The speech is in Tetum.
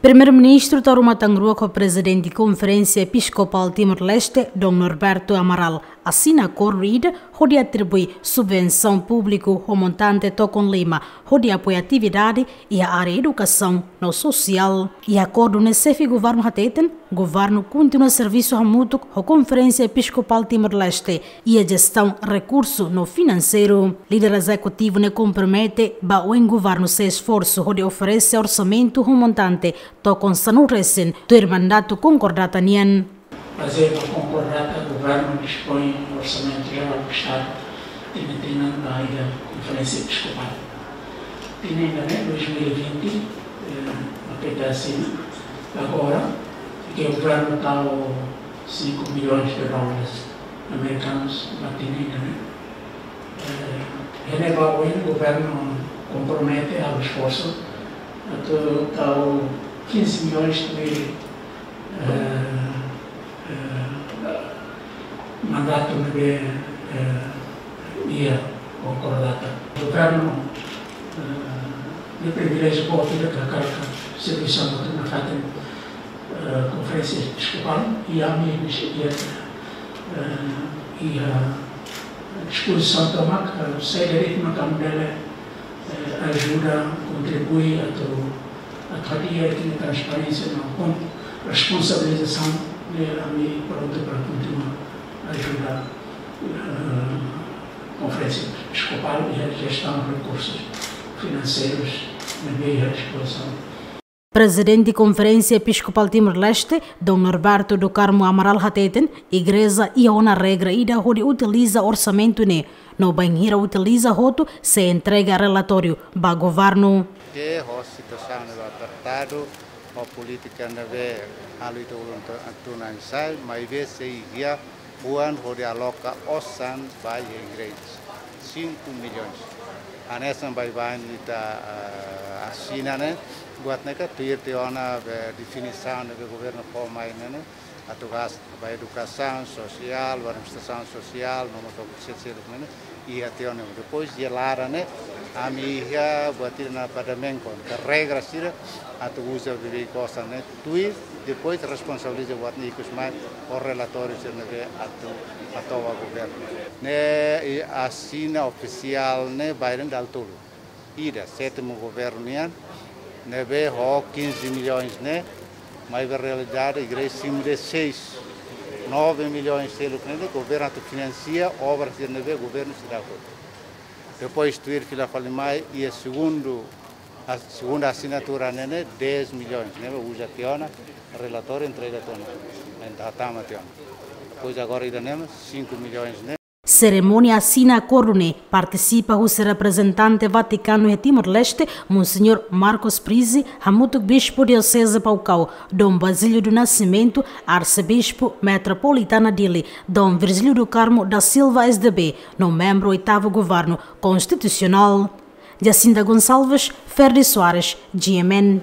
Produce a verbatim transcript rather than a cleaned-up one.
Primeiru-Ministru tau ruma tan rua ho Prezidente Konferénsia Episkopál Timor-Leste, Dom Norberto Amaral, asina akordu ida hodi atribui subvensaun públiku ho montante tokon lima hodi apoia atividade iha área edukasaun no sosiál. Iha akordu ne'e xefe governu hateten, governu kontinua servisu hamutuk ho Konferénsia Episkopál Timor-Leste iha jestaun rekursu no finanseiru. Líder ezekutivu ne'e kompromete ba oin governu sei esforsu hodi oferese orsamentu ho montante tokon sanulu resin tuir mandatu konkordata nian. Bazeia ba konkordata, governu dispõe orsamentu jerál ba Estadu tinan-tinan ba iha Konferénsia Episkopál. Tinan ida-ne'e, dois mil e vinte, eh, A P T asina. Agora, ke governu tau cinco milhões de dólares americanos ba tinan ida-ne'e. Eh, iha ne'ebá oin governu kompromete halo esforsu atu tau quinze milhões de, eh, eh, mandatu ne'ebé, eh, iha konkordata. Governu, eh, iha priviléjiu boot ida katak servisu hamutuk nafatin, eh, Konferénsia Episkopál, i ami, iha, eh, iha dispozisaun tomak, eh, saida de'it mak ami bele, eh, ajuda, kontribui atu, atu hadi'a transparénsia no kon-, responsabilizasaun, eh, ami prontu para kontinua ajuda, eh, Konferénsia Episkopál iha jestaun rekursus finanseirus ne'ebé iha dispozisaun. Prezidente Konferénsia Episkopál Timor-Leste, Dom Norberto do Carmo Amaral hateten, igreja iha ona regra ida hodi utiliza orsamentu ne'e, no bainhira utiliza hotu sei entrega relatóriu ba governu. Ke ho situasaun ne'ebé apertadu, ho polítika ne'ebé halo ita ulun tu-, tunansai, maibé sei iha oan hodi aloka osan ba iha igreja, cinco milhões. Hanesan baibain ita, eh, asina ne'e, buat ne'e ka tuir tiha ona be definisaun ne'ebé governu fó mai ne'e, ne'e, atu gasta ba edukasaun sosiál, ba administrasaun sosiál, no mós ba sel-seluk ne'e, ne'e, iha tiha ona. Depois iha laran ne'e, ami iha buat ida naran padamenko, ka regra sira, atu uza beibeik osan ne'e, tuir, depois responsabiliza buat ne'e ikus mai, ho relatóriu sira ne'ebé atu hato'o ba governu. Ne'e, i asina ofisiál ne'e, bainhira dala tolu. Ida, sétimu governu nian, ne'ebé ho quinze milhões ne'e, maibé realidade, igreja simu dezasseis, nove milhões seluk ne'e, governu atu finansia obra sira ne'ebé governu seidauk. Depois, tuir fila fali mai, iha segundu, a segunda asinatura ne'e, ne'e, dez milhões, ne'ebé uza tiha ona, relatóriu entrega tiha ona, entaun tama tiha ona. Depois, agora, ida-ne'e, cinco milhões ne'e. Serimónia asina akordu ne'e partisipa husi reprezentante Vatikanu iha Timor-Leste, Monseñór Marcos Prizzi, hamutuk Bispu Dioseze Baucau, Dom Basílio do Nascimento, Arsebispu Metropolitana Dili, Dom Virgílio do Carmo da Silva, S D B, no membru oitavu Governu Konstitusionál. Jacinta Gonçalves, Ferdi Soares, G M N.